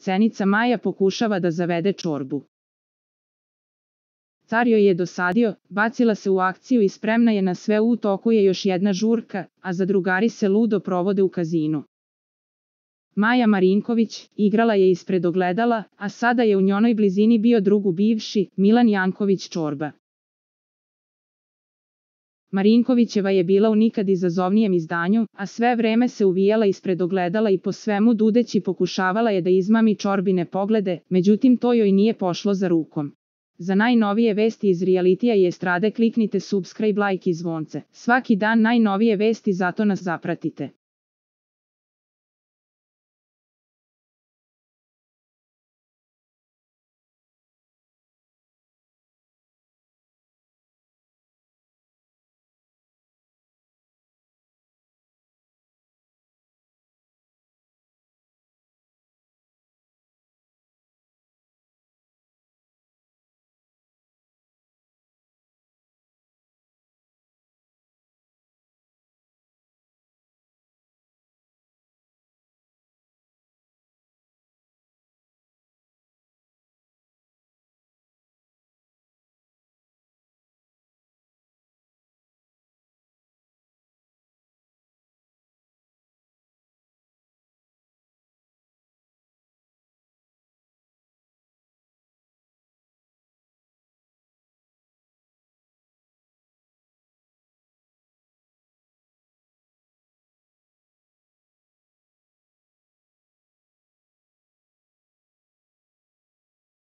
Cenica Maja pokušava da zavede čorbu. Car joj je dosadio, bacila se u akciju i spremna je na sve, u toku je još jedna žurka, a zadrugari se ludo provode u kazinu. Maja Marinković igrala je ispred ogledala, a sada je u njenoj blizini bio drugu bivši, Milan Janković Čorba. Marinkovićeva je bila u nikad izazovnijem izdanju, a sve vreme se uvijala ispred ogledala i po svemu dudeći pokušavala je da izmami Čorbine poglede, međutim to joj nije pošlo za rukom. Za najnovije vesti iz realitija i estrade kliknite subscribe, like i zvonce. Svaki dan najnovije vesti, zato nas zapratite.